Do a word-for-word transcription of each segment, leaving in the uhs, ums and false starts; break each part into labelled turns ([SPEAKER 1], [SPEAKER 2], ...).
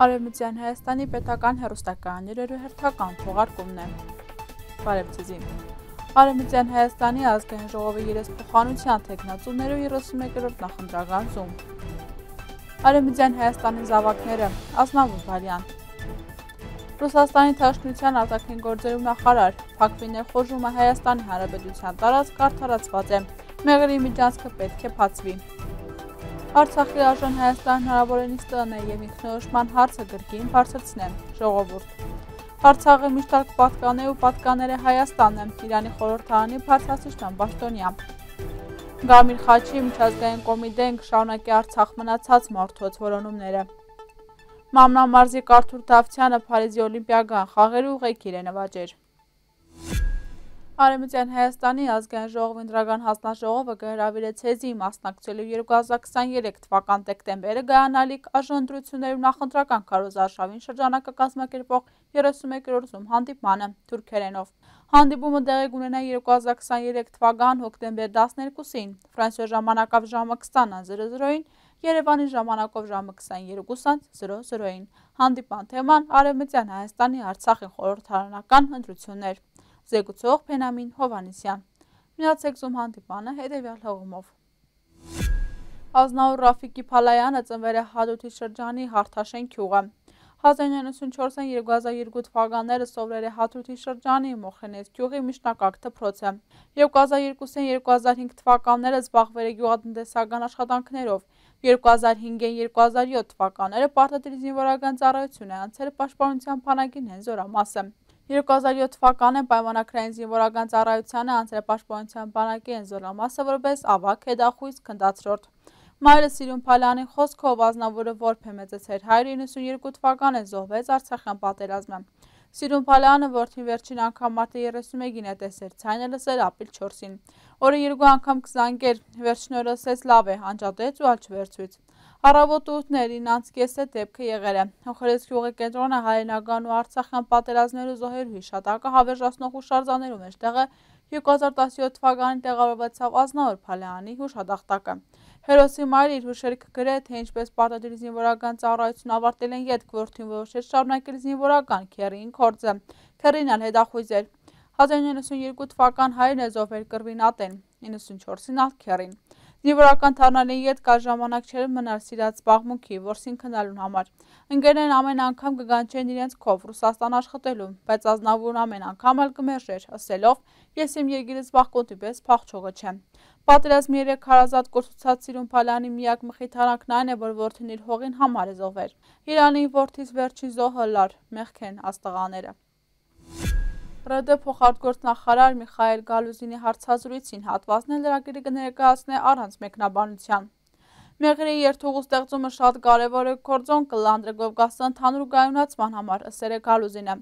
[SPEAKER 1] Արևմտյան Հայաստանի պետական հեռուստակայանների հերթական թողարկումն է։ Բարև ձեզ։ Արևմտյան Հայաստանի ազգային ժողովի երեսփոխանության թեկնածուներու երեսունմեկերորդ նախընտրական զում։ Արևմտյան Հայաստանի զավակները Ազնավուր Բալյան։ Ռուսաստանի Դաշնության արտաքին գործերու նախարար Փակվի ներխոժումը Հայաստանի Հանրապետության տարածք արդարացված է։ Մեղրի միջանցքը պետք է բացվի։ Արցախի արժան Հայաստան հնարավորինս տն է և ինքնորոշման հարցը գրքին բարձրացնեմ, ժողովուրդ։ Արցախը միշտ պատկանե ու պատկաները Հայաստանն է, Իրանի խորհրդարանի բարձրացուցիչ Պաշտոնյա։ Գամիր Խաչի միջազգային կոմիտեն կշարունակի Արցախ մնացած մարդոց որոնումները։ Մամնա մարզի Կարթուր Դավթյանը Փարիզի օլիմպիական խաղերի ուղեկիր է նվաճեր։ Արևմտյան Հայաստանի ազգային ժողովի ընտրական հանձնաժողովը կհրավիրեց հեզի մասնակցելու երկու հազար քսաներեք թվական դեկտեմբերը գայանալիք արժանընտրություններում նախընտրական քարոզարշավին շրջանակը կազմակերպող երեսունմեկերորդ զում հանդիպմանը թուրքերենով։ Հանդիպումը տեղի կունենա երկու հազար քսաներեք թվական հոկտեմբեր տասներկուսին, Ֆրանսիայի ժամանակով ժամը քսան-ին, Երևանի ժամանակով ժամը քսաներկու-ին։ Հանդիպան թեման Արևմտյան Հայաստանի Արցախի խորհրդարանական ընտրություններ։ Զեկուցող Փենամին Հովհաննիսյան։ Միացեք զում հանդիպանը հետևյալ հղումով։ Ազնավուր Ռաֆիկի Փալայանը ծնվել է Հադրութի շրջանի Հարթաշեն գյուղը։ հազար իննսուն նվաթ երկու հազար երկու թվականները սովորել է Հադրութի շրջանի Մոխրենես գյուղի միջնակարգ դպրոցը։ երկու հազար երկուսին երկու հազար հինգ թվականները զբաղվել է գյուղատնտեսական աշխատանքներով։ երկու հազար հինգին երկու հազար յոթ թվականները պարտադիր զինվորական ծառայություն է անցել պաշտպանության բանակին հեն զորամասը։ երկու հազար յոթ թվականին պայմանագրային զինվորական ծառայությանը անցել է պաշտպանության բանակի հեն զորամասը որպես ավագ հետախույզ քննադատորդ։ Մայրը Սիրուն Փալյանի խոսքով Ազնավուրը որբ է մեծացել հայրը իննսուն երկու թվականին զոհվեց Արցախյան պատերազմը։ Սիրուն Փալյանը որդին վերջին անգամ մարտի երեսունմեկին է տեսել, ցայնը լսել ապրիլ չորսին։ Օրը երկու անգամ կզանգեր, վերջին օրը ասեց լավ է, անջատեց ու ալչվերցուց։ Առավոտ ուտներին անց կեսը դեպքը եղել է։ Հոխերես գյուղի կենտրոնը հայրենական ու Արցախյան պատերազմներու զոհերու հիշատակը հավերժացնող հուշարձաններու մեջտեղը երկու հազար տասնյոթ թվականին տեղավորվեցավ Ազնավուր Փալայանի հուշադախտակը։ Հերոսի մայրը իր հուշերքը գրել, թե ինչպես պարտադիր զինվորական ծառայություն ավարտել են ետք, որդին որոշեց շարունակել զինվորական քեռին գործը։ Քեռին ալ հետախույզ էր։ հազար իննսուն նվաթ երկու թվական հայրն է զոհվել կռվին ատեն, իննսուն չորսին ալ քեռին։ Զինվորական թարնալին ետք այլ ժամանակ չէր մնալ սիրած զբաղմունքի, որսին քննալուն համար։ Ընկերներն ամեն անգամ կգանչեն իրենց քով Ռուսաստան աշխատելու, բայց Ազնավուրն ամեն անգամ ալ կմերժեր, ասելով. «Ես իմ երկիրը զբաղկոտի պես փախչողը չեմ»։ Պատերազմի երեք հարազատ կորցուցած Սիրուն Փալյանի միակ մխիթարանքն այն է, որ որդին իր հողին համար է զոհվել։ Իրանի որդից վերջին զոհը լար, մեղք են աստղաները։ ՌԴ փոխարտգործնախարար Միխայել Գալուզինի հարցազրույցին հատվածն էլ լրագրի կներկայացնե առանց մեկնաբանության։ Մեղրի երթուղու ստեղծումը շատ կարևոր է գործոն կլանդրը Կովկասի ընդհանուր կայունացման համար, ըսել է Գալուզինը։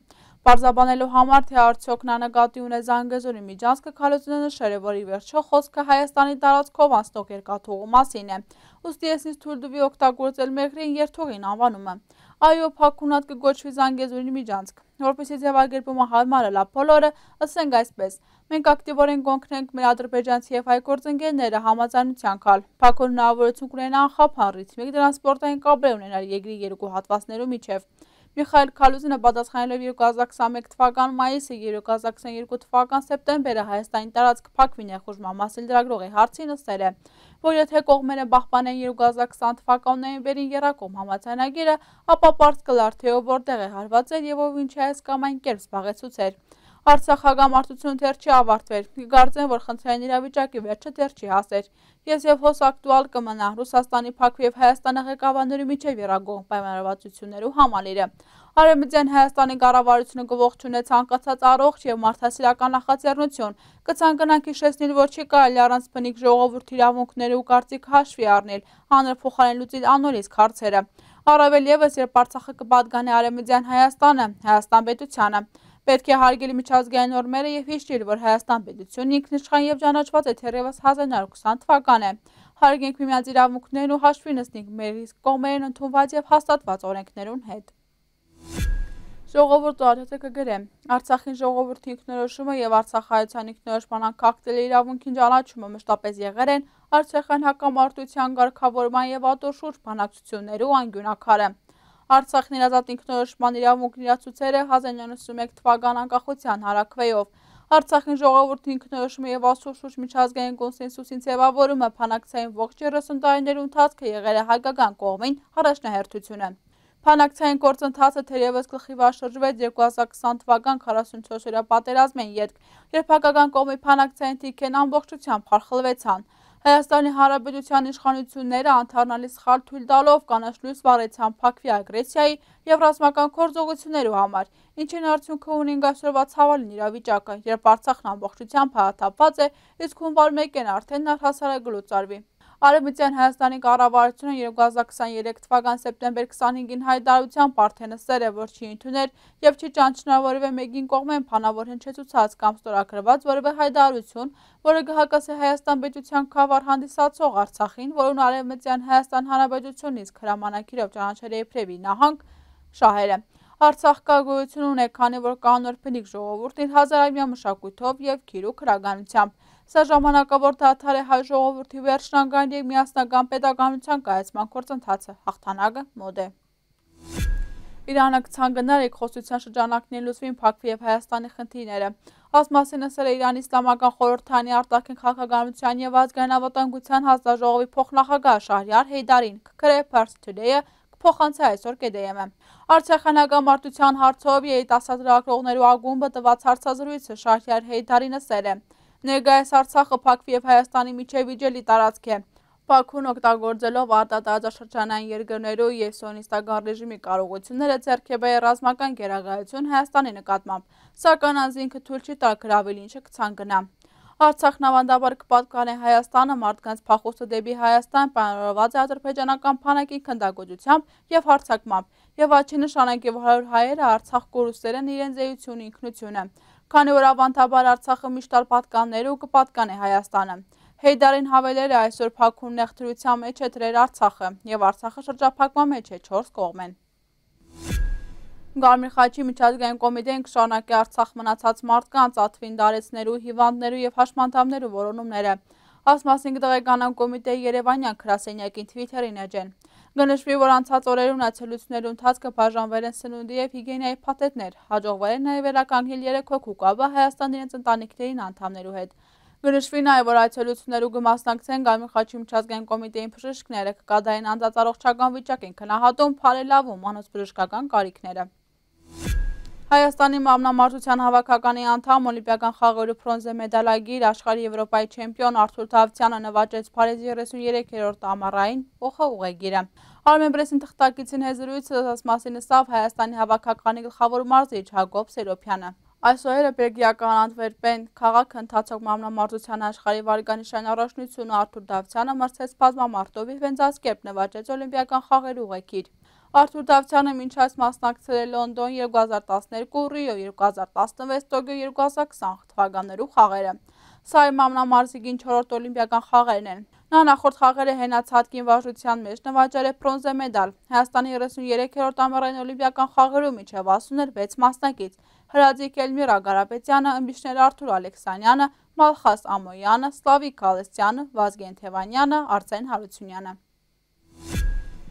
[SPEAKER 1] Պարզաբանելու համար, թե արդյոք նա նկատի ունե Զանգեզուրի միջանցքը, Գալուզինը նշել է, որ ի վերջո խոսքը Հայաստանի տարածքով անցնող երկաթուղու մասին է։ Ուստի ես ինձ թույլ տվի օգտագործել մեղրի երթուղին անվանումը։ Այո, փակունատ կգոչվի Զանգեզուրի միջանցք, որպեսզի ձևակերպումը հարմար լա բոլորը, ասենք այսպես։ Մենք ակտիվորեն կօգնենք մեր ադրբեջանցի և հայ գործընկերները համաձայնության գալ, փակուր հնարավորություն կունենա անխափան ռիթմիկ տրանսպորտային կապեր ունենալ երկրի երկու հատվածներու միջև։ Միխայել Գալուզինը պատասխանելով երկու հազար քսաներեք թվական մայիսի և երկու հազար քսաներկու թվական սեպտեմբերը Հայաստանի տարածք Փակվի ներխուժման մասին լրագրողի հարցին ասել է, որ եթե կողմերը պահպանեն երկու հազար քսան թվական նոյեմբերին եռակողմ համաձայնագիրը, ապա պարզ կլար, թե ով որտեղ է հարվածել և ով ինչ է այս կամ այն կերպ զբաղեցուցել։ Արցախ հակամարտությունը դեռ չի ավարտվել, կկարծեմ, որ խնդրային իրավիճակի վերջը դեռ չի հասել։ Ես և հոս ակտուալ կմնա Ռուսաստանի, Փակվի և Հայաստանի ղեկավարներու միջև եռագող պայմանավորվածություններու համալիրը։ Արևմտյան Հայաստանի կառավարությունը կողջունե ցանկացած առողջ և մարդասիրական նախաձեռնություն, կցանկանանք հիշեցնել, որ չի կարելի առանց բնիկ ժողովրդի իրավունքները ու կարծիքը հաշվի առնել, հանրափոխարեն լուծել աննորից հարցերը։ Առավել ևս, երբ Արցախը կպատկանի Արևմտյան Հայաստանը, Հայաստան պետությանը։ Պետք է հարգել միջազգային նորմերը և հիշել, որ Հայաստան պետությունն ինքնիշխան և ճանաչված է թերևս հազար իննսուն քսան թվականը։ Հարգենք միմյանց իրավունքներն ու հաշվի նստենք մեր իսկ կողմերեն ընդունված և հաստատված օրենքներուն հետ։ Ժողովուրդ օրաթերթը կգրե. Արցախին ժողովրդի ինքնորոշումը և արցախայցյան ինքնորոշման անկախտելի իրավունքին ճանաչումը մշտապես եղել են արցախյան հակամարտության կարգավորման և ատոր շուրջ բանակցություններու անկյունակարը։ Արցախն իր ազատ ինքնորոշման իրավունքն իրացուցել է հազար իննյակ նոթսունմեկ թվական անկախության հարաքվեով։ Արցախի ժողովրդի ինքնորոշումը եւ ասուշուշ միջազգային կոնսենսուսին ձևավորումը փանակցային ողջ երեսուն տարիների ընթացքը եղել է հայկական կողմին առաջնահերթությունը։ Փանակցային գործընթացը թերևս գլխիվար շրջվեց երկու հազար քսան թվական քառասունչորս-օրյա պատերազմին ետք, երբ հայկական կողմի փանակցային թիքերն ամբողջությամբ խարխլվեցան։ Հայաստանի Հանրապետության իշխանությունները անդառնալի սխալ թույլ տալով կանաչ լույս վառեցան փակվի ագրեսիայի եւ ռազմական գործողություններու համար, ինչին արդյունքը ունենք այսօրվա ցավալին իրավիճակը, երբ Արցախն ամբողջությամբ հայաթափված է, իսկ հունվար մեկին արդեն առհասարակ գլուծարվի։ Արևմտյան Հայաստանի կառավարությունը երկու հազար քսաներեք թվական սեպտեմբեր քսանհինգին հայտարարությամբ արդեն ասել է, որ չի ընդուներ եւ չի ճանաչնա որևէ մեկին կողմեն փանավոր հնչեցուցած կամ ստորագրված որևէ հայտարարություն, որը կհակասի Հայաստան պետության քավառ հանդիսացող Արցախին, որուն Արևմտյան Հայաստան Հանրապետությունից հրամանակիրով ճանաչել է իբրևի նահանգ շահերը։ Արցախ կա գոյություն ունի, քանի որ կանոնավոր բնիկ ժողովուրդն իր հազարամյա մշակույթով եւ քիրուկ քրագանությամբ։ Սա ժամանակավոր դադար է հայ ժողովրդի վերջնական եւ միասնական պետականության կայացման գործընթացը, հաղթանակը մոտ է։ Իրանը կցանկանար երկխոսության շրջանակներին լուծվին փակվի եւ Հայաստանի խնդիրները։ Այս մասին ասել է Իրանի Իսլամական խորհրդարանի արտաքին քաղաքականության եւ ազգային անվտանգության հանձնաժողովի փոխնախագահ Շահրիար Հեյդարին, քրե Pars Today-ը փոխանցել այսօր K D M-ը։ Արցախյան հակամարտության հարցով երիտասարդ լրագրողներու ակումբը տված հարցազրույցը Շահրիար Հեյդարին ասել է. Ներկայիս Արցախը Բաքվի եւ Հայաստանի միջև իջելի տարածք է։ Բաքուն օգտագործելով արտադրածաշրջանային երկրներու եւ սիոնիստական ռեժիմի կարողությունները ձեռք է բերել ռազմական գերագայություն Հայաստանի նկատմամբ, սակայն անձինքը թույլ չի տալ գրավել, ինչը կցանկանա։ Արցախն ավանդաբար կպատկանե Հայաստանը մարդկանց փախուստը դեպի Հայաստան պայմանավորված է ադրբեջանական բանակի քննադատությամբ եւ հարձակմամբ, եւ աչի նշանակ եւ հարյուր հայերը Արցախ կորուստեր են իրենց զեյությունը ինքնությունը, քանի որ ավանդաբար Արցախը միշտ ալ պատկաններ ու կպատկանե Հայաստանը։ Հեյդարին հավելել է այսօր Բաքուն նեղդրության մեջ է դրել Արցախը եւ Արցախը շրջափակման մեջ է չորս կողմեն։ Գարմիր խաչի միջազգային կոմիտեն կշարունակի Արցախ մնացած մարդկանց ատվին դարեցներու, հիվանդներու եւ հաշմանդամներու որոնումները։ Այս մասին կտեղեկանան կոմիտեի երևանյան գրասենյակին Twitter-ին էջեն։ Գնշվի, որ անցած օրերուն այցելություններու ընթացքը բաժանվել են սնունդի եւ հիգիենայի փաթեթներ, հաջողվել են նաեւ վերականգնել երեք հոգու կապը Հայաստանի իրենց ընտանիքներին անդամներու հետ։ Գնշվի նաեւ, որ այցելություններու կմասնակցեն Գարմիր խաչի միջազգային կոմիտեին բժիշկները, կկատարեն անձած առողջական վիճակին քննահատում, բարելավում անոնց բժշկական կարիքները։ Հայաստանի մամնամարտության հավաքականի անդամ օլիմպիական խաղերու բրոնզե մեդալագիր աշխարհի Եվրոպայի չեմպիոն Արթուր Դավթյանը նվաճեց Փարիզի երեսուներեքերորդ ամառային օխ ուղեգիրը։ Armenpress-ին թղթակիցին հեզրույցը այս մասին ասավ Հայաստանի հավաքականի գլխավոր մարզիչ Հակոբ Սերոփյանը։ Այսօր Բելգիական Անտվերպեն քաղաքը ընթացող մամնամարտության աշխարհի վարկանիշային առաջնությունը Արթուր Դավթյանը մրցեց բազմամարտով եւ հենց այս կերպ նվաճեց օլիմպիական խաղերու ուղեգիր։ Արթուր Դավթյանը մինչ այս մասնակցել է Լոնդոն երկու հազար տասներկու, Ռիո երկու հազար տասնվեց, Տոկիո երկու հազար քսան թվականներու խաղերը։ Սա է մամնամարզիկին չորրորդ օլիմպիական խաղերն են։ Նա նախորդ խաղերը հենած հատկին վարժության մեջ նվաճել է բրոնզե մեդալ։ Հայաստանի երեսուներեքերորդ ամառային օլիմպիական խաղերում միջև ասուն էր վեց մասնակից՝ Հրաձիկ Էլմիրա Գարապետյանը, ըմբիշներ Արթուր Ալեքսանյանը, Մալխաս Ամոյանը, Սլավիկ Կալեստյանը, Վազգեն Թևանյանը, Արսեն Հարությունյանը։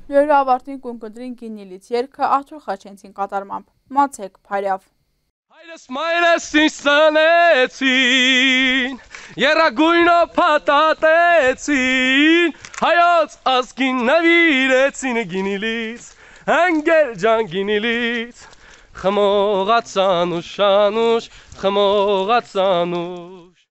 [SPEAKER 1] Լույրը ավարտին կունկնդրին գինիլից երկը Արթուր Խաչենցին կատարմամբ։ Մացեք Փարյավ։
[SPEAKER 2] Հայրս մայրս ինձ ծնեցին, երագույնով փաթաթեցին, հայոց ազգին նվիրեցին գինիլից, անգել ջան գինիլից, խմողացան ուշանուշ, խմողացան ուշ։